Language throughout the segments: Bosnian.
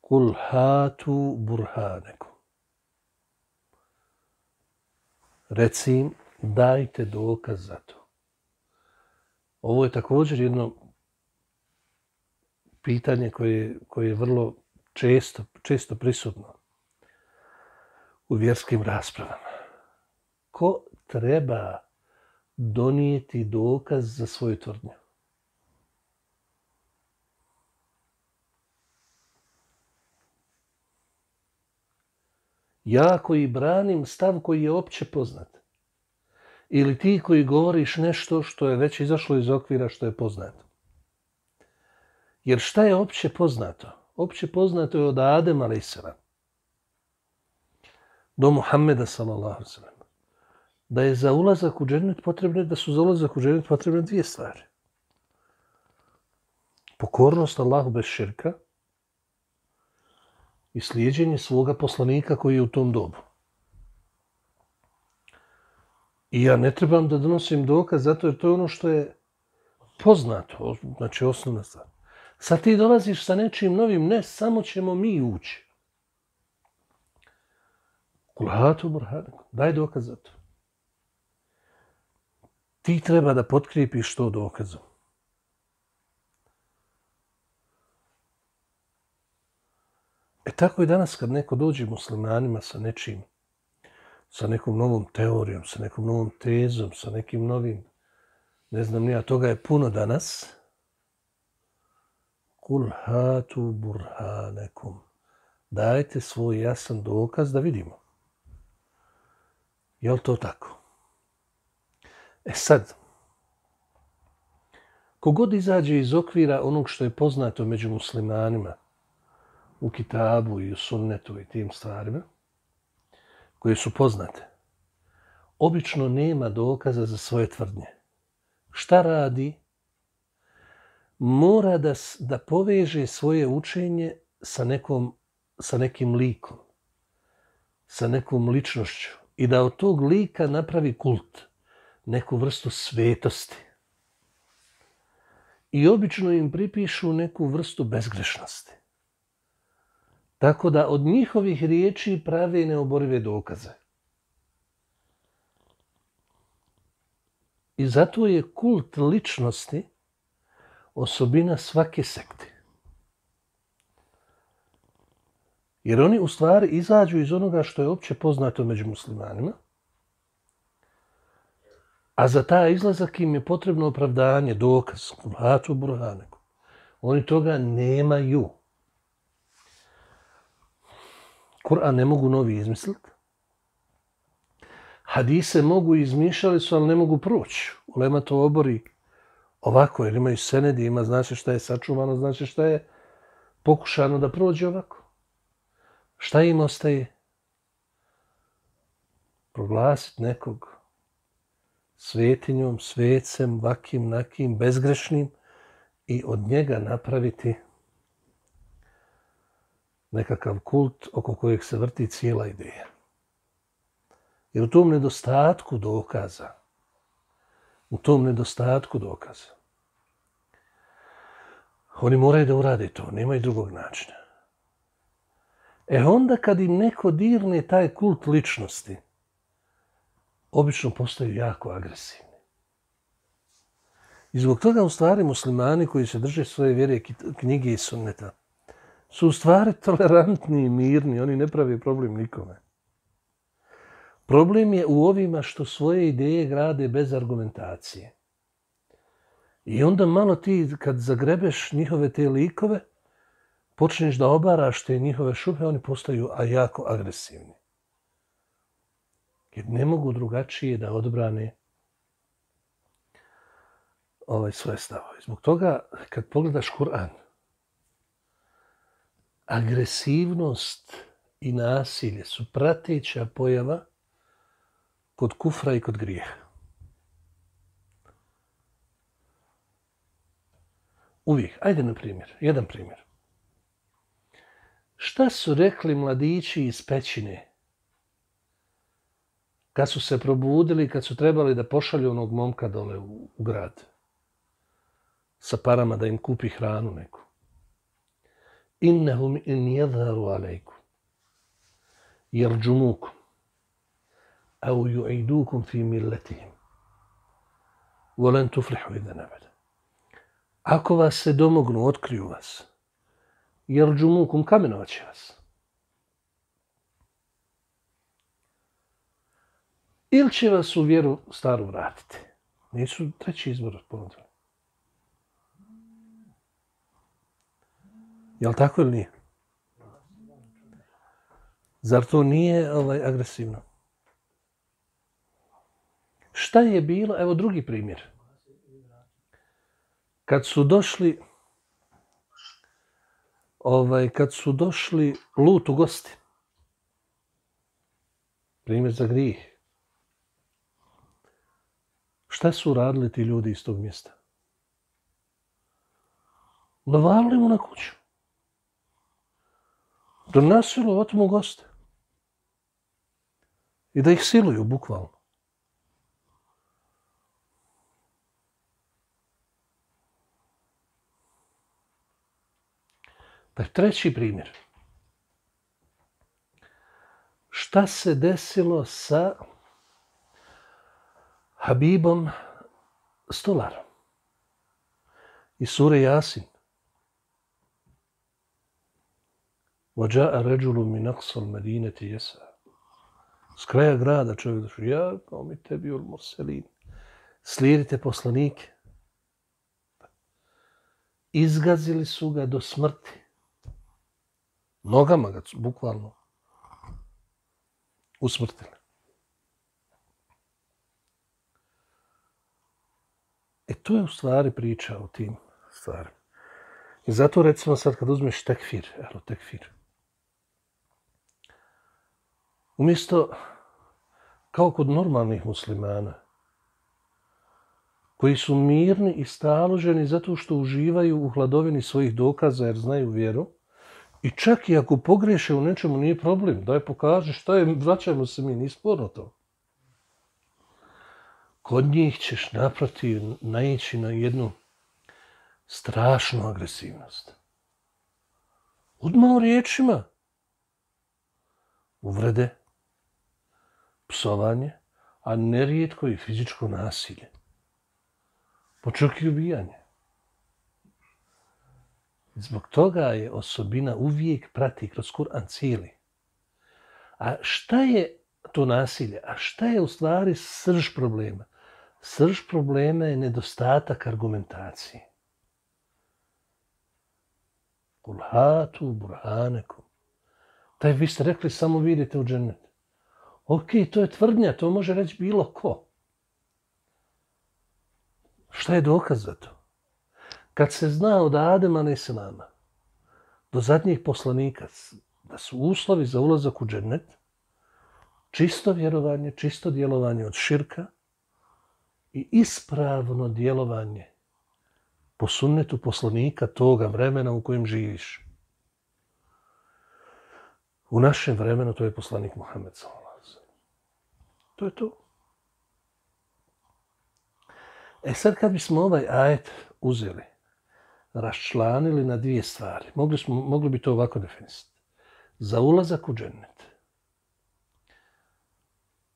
Kul hatu burhanekum. Reci im, dajte dokaz za to. Ovo je također jedno pitanje koje je vrlo često prisutno u vjerskim raspravama. Ko treba donijeti dokaz za svoju tvrdnju? Ja koji branim stav koji je opće poznat. Ili ti koji govoriš nešto što je već izašlo iz okvira što je poznato. Jer šta je opće poznato? Opće poznato je od Adema a.s. do Muhammeda s.a.v. Da je za ulazak u džennet potrebne, da su za ulazak u džennet potrebne dvije stvari. Pokornost Allahu bez širka i slijeđenje svoga poslanika koji je u tom dobu. I ja ne trebam da donosim dokaz zato jer to je ono što je poznato, znači osnovna stvar. Sad ti dolaziš sa nečim novim, ne, samo ćemo mi ući. Kulhatu burhanekum, daj dokaz za to. Ti treba da potkrijepiš to dokazom. Tako i danas kad neko dođe muslimanima sa nečim, sa nekom novom teorijom, sa nekom novom tezom, sa nekim novim, ne znam nija, toga je puno danas. Kul hatu burhanekum. Dajte svoj jasan dokaz da vidimo. Je li to tako? Sad, kogod izađe iz okvira onog što je poznato među muslimanima, u kitabu i u sunnetu i tim stvarima, koje su poznate, obično nema dokaza za svoje tvrdnje. Šta radi? Mora da poveže svoje učenje sa nekim likom, sa nekom ličnošću i da od tog lika napravi kult, neku vrstu svetosti. I obično im pripišu neku vrstu bezgrešnosti. Tako da od njihovih riječi prave neoborive dokaze. I zato je kult ličnosti osobina svake sekte. Jer oni u stvari izađu iz onoga što je opće poznato među muslimanima, a za taj izlazak im je potrebno opravdanje, dokaz, kulhatu burhanekum. Oni toga nemaju. Kur'an ne mogu novi izmisliti. Hadise mogu izmišljali su, ali ne mogu proći. Ulema to obori ovako, jer imaju senedi, ima znači šta je sačuvano, znači šta je pokušano da prođe ovako. Šta im ostaje? Proglasiti nekog svetinjom, svecem, vakim, nakim, bezgrešnim i od njega napraviti nekakav kult oko kojeg se vrti cijela ideja. Jer u tom nedostatku dokaza, oni moraju da urade to, nemaju drugog načina. Onda kad im neko dirne taj kult ličnosti, obično postaju jako agresivni. I zbog toga u stvari muslimani koji se drže svoje vjere, knjige i sunneta, su u stvari tolerantni i mirni, oni ne pravi problem nikome. Problem je u ovima što svoje ideje grade bez argumentacije. I onda malo ti, kad zagrebeš njihove te likove, počneš da obaraš te njihove šupe, oni postaju jako agresivni. Jer ne mogu drugačije da odbrane svoje stavove. Zbog toga, kad pogledaš Kur'an, agresivnost i nasilje su prateća pojava kod kufra i kod grijeha. Uvijek. Ajde na primjer. Jedan primjer. Šta su rekli mladići iz pećine kad su se probudili, kad su trebali da pošalju onog momka dole u grad sa parama da im kupi hranu neku? innahum in yadharu alejkum yarjumukum aw yu'idukum fi millatihim wa lan tuflihu idhan abada. Ako vas se domognu, otkriju vas, yarjumukum, kamenovaće vas. Ili će vas u vjeru staru vratiti. Nisu treći izbor ponudili. Jel' tako ili nije? Zar to nije agresivno? Šta je bilo? Evo drugi primjer. Kad su došli Lut u gosti. Primjer za grijeh. Šta su radili ti ljudi iz tog mjesta? Navalili mu na kuću. Donosili otmu goste. I da ih siluju, bukvalno. Treći primjer. Šta se desilo sa Habibom Stolarom iz sure Jasin? وَجَاءَ رَجُلٌ مِنْ أَقْصَى الْمَدِينَةِ يَسْعَى. S kraja grada čovjek došao, ja kao mi tebi ul murselin. Slijedite poslanike. Izgazili su ga do smrti. Nogama ga bukvalno usmrtili. To je u stvari priča o tim stvarima. I zato recimo sad kad uzmeš tekfir, umjesto kao kod normalnih muslimana, koji su mirni i staloženi zato što uživaju u hladovini svojih dokaza jer znaju vjeru, i čak i ako pogreše u nečemu nije problem, daj pokaži šta je, vraćajmo se mi, nije sporno to. Kod njih ćeš naprotiv naići na jednu strašnu agresivnost. Odmah u riječima. Uvrede, psovanje, a nerijetko i fizičko nasilje. Pa čak i ubijanje. Zbog toga je osobina uvijek prati kroz Kur'an cijeli. A šta je to nasilje? A šta je u stvari srž problema? Srž problema je nedostatak argumentacije. Kul hatu burhanekum. Taj vi ste rekli samo vidite u džennet. Ok, to je tvrdnja, to može reći bilo ko. Šta je dokaz za to? Kad se zna od Adema a.s. do zadnjih poslanika da su uslovi za ulazak u džennet čisto vjerovanje, čisto djelovanje od širka i ispravno djelovanje po sunnetu poslanika toga vremena u kojem živiš. U našem vremenu to je poslanik Muhammed sallallahu alejhi ve sellem. To je to. Sad kad bismo ovaj ajet uzeli, raščlanili na dvije stvari, mogli bi to ovako definisati. Za ulazak u džennet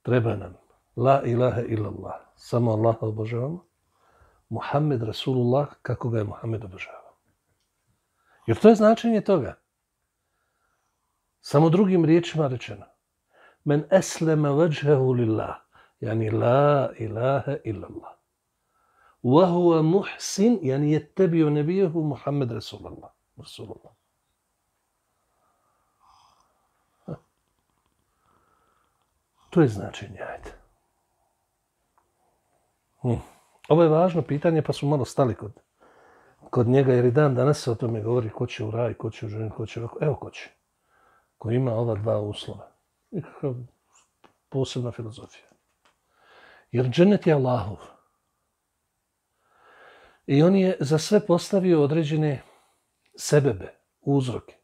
treba nam la ilaha illallah, samo Allah obožavamo, Muhammed Rasulullah, kako ga je Muhammed obožavao. Jer to je značenje toga. Samo drugim riječima rečeno. Men eslema vajhahu lillah, yani la ilaha illallah. Wa huwa muhsin, yani yattabi'u nabiyahu Muhammed Rasulullah. To je značenje, ajde. Ovo je važno pitanje, pa su malo stali kod njega, jer i dan danas se o tome govori ko će u raj, ko će u džennet, ko će ovako. Evo ko će. Ko ima ova dva uslova. Nikakav posebna filozofija. Jer džennet je Allahov. I on je za sve postavio određene sebebe, uzroke.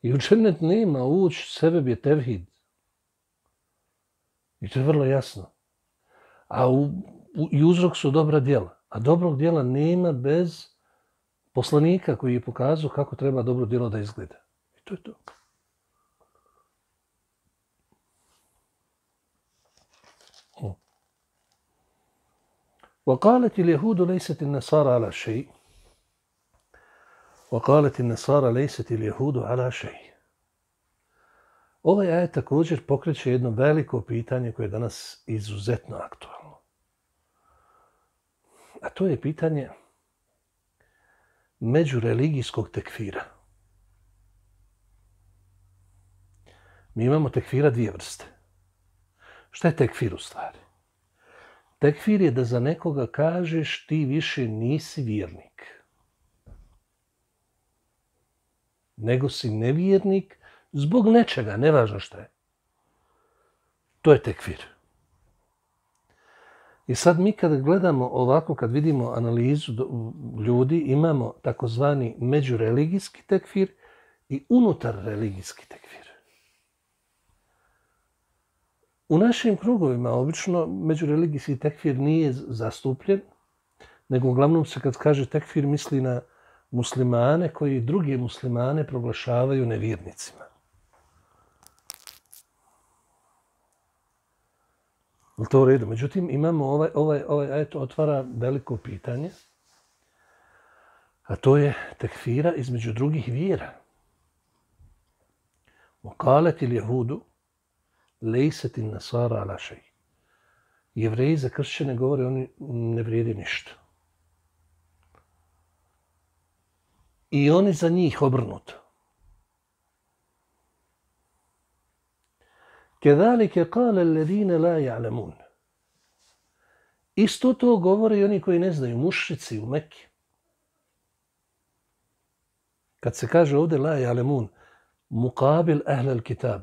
I u džennet nema ući, sebeb je tevhid. I to je vrlo jasno. A i uzrok su dobra djela. A dobrog djela nema bez poslanika koji je pokazao kako treba dobro djelo da izgleda. I to je to. وقالت اليهود ليست النصارى على شيء وقالت النصارى ليست اليهود على شيء. Ovaj ajet također pokreće jedno veliko pitanje koje je danas izuzetno aktualno. A to je pitanje međureligijskog tekfira. Mi imamo tekfira dvije vrste. Šta je tekfir u stvari? Tekfir je da za nekoga kažeš ti više nisi vjernik. Nego si nevjernik zbog nečega, nevažno šta je. To je tekfir. I sad mi kad gledamo ovako, kad vidimo analizu ljudi, imamo takozvani međureligijski tekfir i unutar religijski tekfir. U našim krugovima obično međureligijski tekfir nije zastupljen, nego uglavnom se kad kaže tekfir misli na muslimane koji druge muslimane proglašavaju nevjernicima. Je to u redu? Međutim, imamo ovaj ajet otvara veliko pitanje, a to je tekfira između drugih vjera. وقالت اليهود ليست النصارى على شيء. Jevreji za kršćane govore oni ne vrijede ništa. I oni za njih obrnuto. كذلك قال الذين لا يعلمون. Isto to govore i oni koji ne znaju, mušrici u Mekki. Kad se kaže ovdje la ya'lamun, muqabil ahl al-kitab,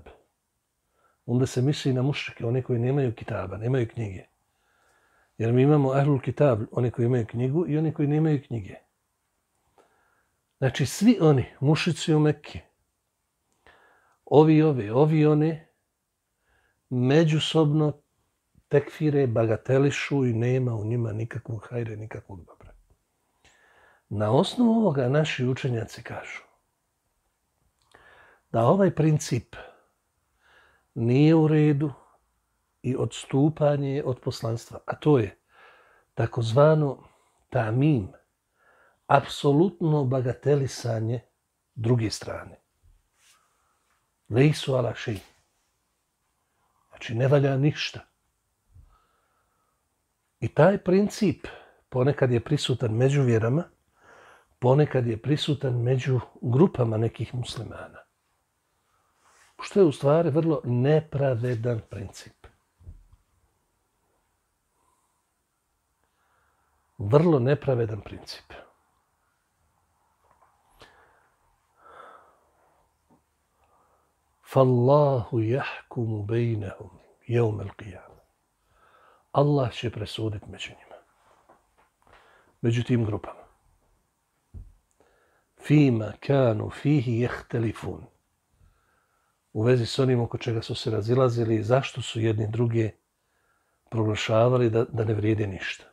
onda se misli na mušrike, oni koji nemaju kitaba, nemaju knjige. Jer mi imamo ahlul kitab, oni koji imaju knjigu i oni koji nemaju knjige. Znači svi oni, mušrici u Mekki, ovi oni, međusobno tekfire, bagatelišu i nema u njima nikakvog hajre, nikakvog dobra. Na osnovu ovoga naši učenjaci kažu da ovaj princip nije u redu i odstupanje od poslanstva, a to je takozvano tamim, apsolutno bagatelisanje druge strane. Lejsu ala šej. Znači ne valja ništa. I taj princip ponekad je prisutan među vjerama, ponekad je prisutan među grupama nekih muslimana. Što je u stvari vrlo nepravedan princip. Vrlo nepravedan princip. Fallahu jahkumu bejnehum jevmel qiyama. Allah će presuditi među njima. Među tim grupama. Fima kanu fihi jehtelifun. U vezi s onim oko čega su se razilazili i zašto su jedni druge proglašavali da ne vrijede ništa.